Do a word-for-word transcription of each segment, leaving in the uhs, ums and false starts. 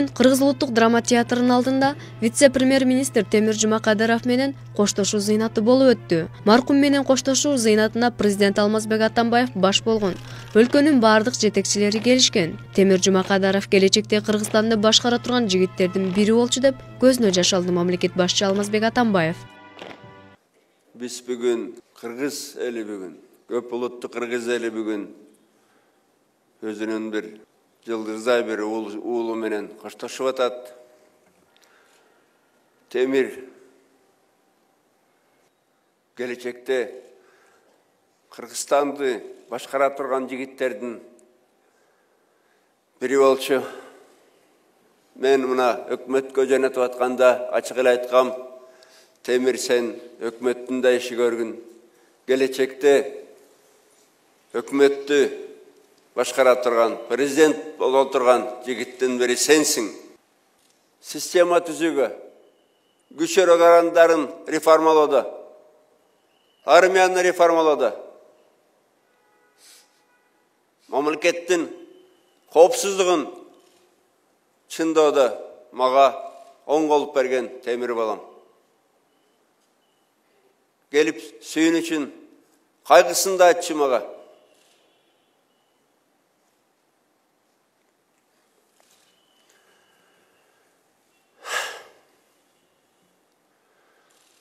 Бүгүн Кыргыз улуттук драма театрынын алдында вице-премьер-министр Темир Жумакадыров менен коштошуу зыйнаты болуп өттү. Маркум менен коштошуу зыйнатына президент Алмазбек Атамбаев баш болгон. Өлкөнүн бардык жетекчилери келишкен. Темир Жумакадыров келечекте Кыргызстанды башкара турган жигиттердин бири болчу деп көзүнө жаш алды мамлекет башчы Алмазбек Атамбаев. Биз бүгүн Кыргыз эли бүгүн, көп улуттуу Кыргыз эли бүгүн өзүнүн бир жылдыздай бир уулу менен коштошуп атат. Темир келечекте Кыргызстанды башкара турган жигиттердин бири болчу. Мен мына өкмөткө жөнөтүп атканда ачык эле айткам, Темир сен өкмөттүн да иши көргүн. Келечекте өкмөттү башкара турган, президент боло турган жигиттин бири сенсиң. Система түзүүгө, күч органдарын реформалоодо, армияны реформалоодо, мамлекеттин коопсуздугун чындоодо мага оң болуп берген Темир балам. Келип сүйүн үчүн кайгысын да айтчу мага.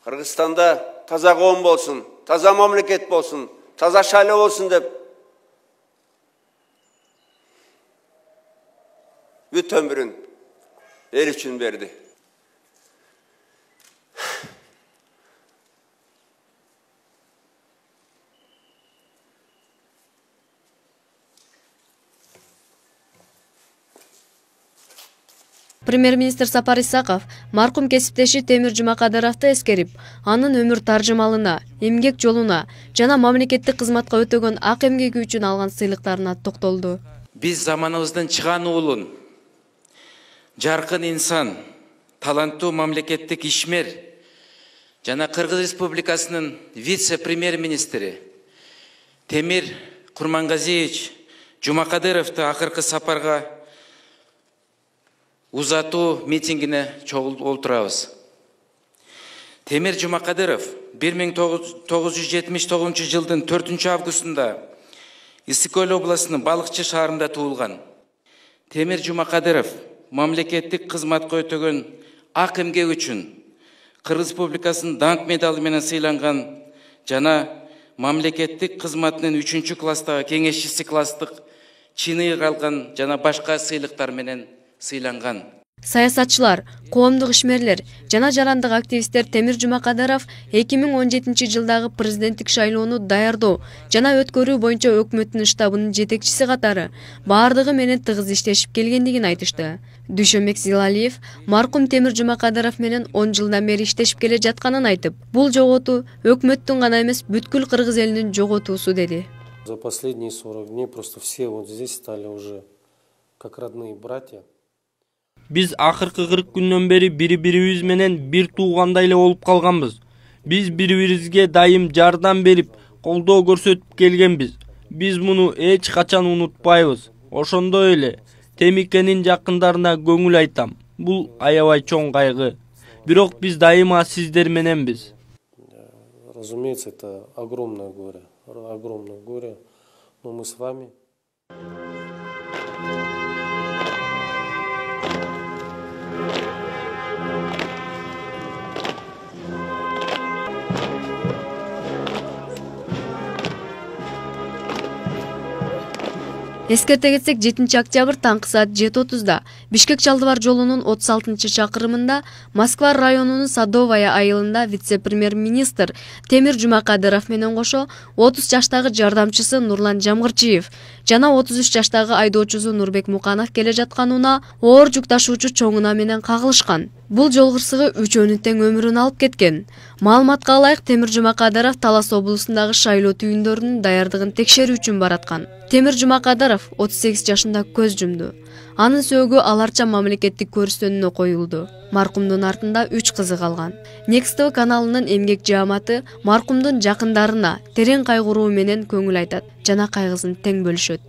Кыргызстанда таза коом болсун, таза мамлекет болсун, таза шайлоо болсун деп бүт өмүрүн эл үчүн берди. Премьер-министр Сапар Исаков маркум кесиптеши Темир Жумакадыровду эскерип, анын өмүр таржымалына, эмгек жолуна жана мамлекеттик кызматка өтөгөн ак эмгеги үчүн алган сыйлыктарына токтолду. Биз заманыбыздын чыган уулун, жаркын инсан, таланттуу мамлекеттик ишмер жана Кыргыз Республикасынын вице-премьер-министри Темир Курмангазиевич Жумакадыровду акыркы сапарга узатуу митингине чогултурабыз. Темир Жумакадыров бир миң тогуз жүз жетимиш тогузунчу жылдын төртүнчү августунда Ысык Көл областынын Балыкчы шаарында туулган. Темир Жумакадыров мамлекеттик кызматка өтөгөн ак эмгеги үчүн Кыргыз Республикасынын даңк медалы менен сыйланган жана мамлекеттик кызматынын үчүнчү класстагы кеңешчиси класстык чыны алган жана башка сыйлыктар менен сыйланган. Саясатчылар, коомдук ишмерлер жана жарандык активисттер Темир Жумакадыров эки миң он жетинчи жылдагы президенттик шайлоону даярдоо жана өткөрүү боюнча өкмөттүн штабынын жетекчиси катары бардыгы менен тыгыз иштешип келгендигин айтышты. Дүйшөнбек Зилалиев маркум Темир Жумакадыров менен он жылдан бери иштешип келе жатканын айтып, бул жоготуу өкмөттүн гана эмес, бүткүл Кыргыз элинин жоготуусу деди. За последние сорок дней просто все вот здесь стали уже как родные братья. Биз акыркы кырк күндөн бери бири-бирибиз менен бир туугандай эле болуп калганбыз. Биз бири-бирибизге дайым жардам берип, колдоо көрсөтүп келгенбиз. Биз муну эч качан унутпайбыз. Ошондой эле Темикенин жакындарына көңүл айтам. Бул аябай чоң кайгы. Бирок биз дайыма сиздер мененбиз. Разумеется, это огромное горе, огромное горе, но мы с вами. Эскерте кетсек, жетинчи октябрь таңкы саат жети отузда Бишкек-Чалдыбар жолунун отуз алтынчы чакырымында Москва районунун Садовая айылында вице-премьер-министр Темир Жумакадыров менен кошо отуз жаштагы жардамчысы Нурлан Жамгырчиев жана отуз үч жаштагы айдоочусу Нурбек Муканов келе жатканына оор жүк ташуучу чоңуна менен кагылышкан. Бул жол кырсыгы үчөөнүн тең өмүрүн алып кеткен. Маалыматка ылайык, Темир Жумакадыров Талас облусундагы шайлоо түйүндөрүнүн даярдыгын текшерүү үчүн бараткан. Темир Жумакадыров отуз сегиз жашында көз жумду. Анын сөөгү аларча мамлекеттик көрүстөнүнө коюлду. Маркумдун артында үч кызы калган. Next T V каналынын эмгек жааматы маркумдун жакындарына терең кайгыруу менен көңүл айтат жана кайгысын тең бөлүшөт.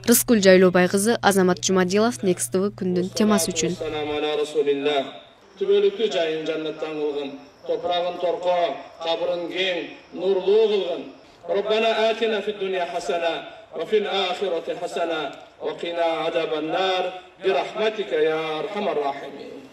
Рыскүл Жайлообай кызы, Азамат Жумадилов, Next T V күндүн темасы үчүн. Түбөлүккү жайын жаннаттан кылгын, топрагын торко, кабырын кең, нурлуу кылгын. Роббана атина фид дунья хасана ва фил ахирати хасана ва кина азабан нар бирахматика я архамар рахимин.